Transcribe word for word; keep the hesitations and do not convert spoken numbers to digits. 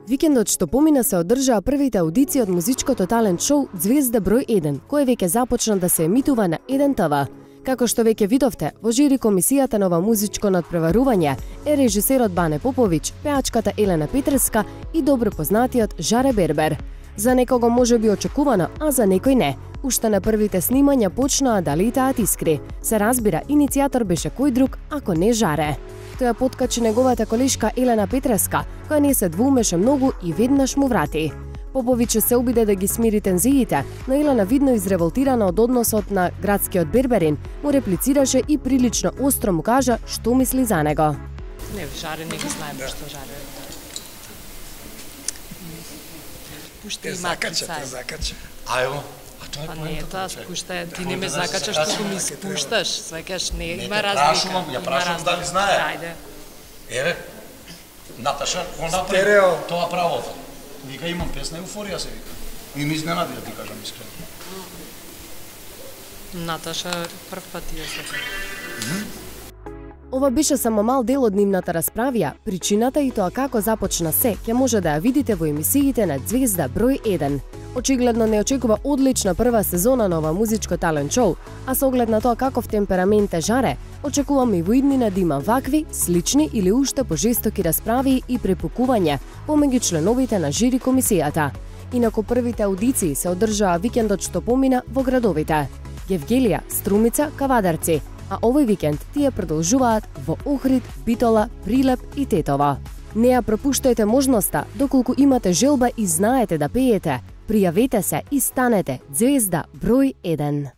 Викендот што помина се одржаа првите аудиции од музичкото талент шоу Звезда број еден, кој веќе започна да се емитува на еден те ве. Како што веќе видовте, во жири комисијата на ова музичко надпреварување е режисерот Бане Поповиќ, пеачката Елена Петрска и добро познатиот Жаре Бербер. За некого може би очекувано, а за некој не. Уште на првите снимања почнаа да летаат искри. Се разбира, иницијатор беше кој друг, ако не Жаре. Тој подкачи неговата колешка Елена Петреска, која не се двоумеше многу и веднаш му врати. Поповиќ се обиде да ги смири тензиите, но Елена, видно изреволтирана од односот на градскиот Берберин, му реплицираше и прилично остро му кажа што мисли за него. Не, Жаре не ги знаеме што Жаре. Пушти и закача, те закача. Ајо, а тоа е па не, тоа поентата. спушта, ти не ме закачаш, што ми спушташ. Свекаш, не, Не има те разлика. прашувам, ја прашувам дали знае. Ајде. Еве, Наташа, го направи Стерео. тоа правото. Вика, имам песна еуфорија, се вика. И ми изненади, да ти кажам искрено. Наташа прв пат ја се. Ова беше само мал дел од нивната расправија. Причината и тоа како започна се, ќе може да ја видите во емисиите на Звезда број еден. Очигледно не очекува одлична прва сезона на ова музичко талент шоу, а со оглед на тоа каков темперамент е Жаре, очекувам и во иднина да има вакви, слични или уште пожестоки расправи и препукувања помеѓу членовите на жири комисијата. Инаку првите аудиции се одржаа викендот што помина во градовите Гевгелија, Струмица, Кавадарци, а овој викенд тие продолжуваат во Охрид, Битола, Прилеп и Тетово. Не ја пропуштајте можноста, доколку имате желба и знаете да пеете, пријавете се и станете Звезда број еден.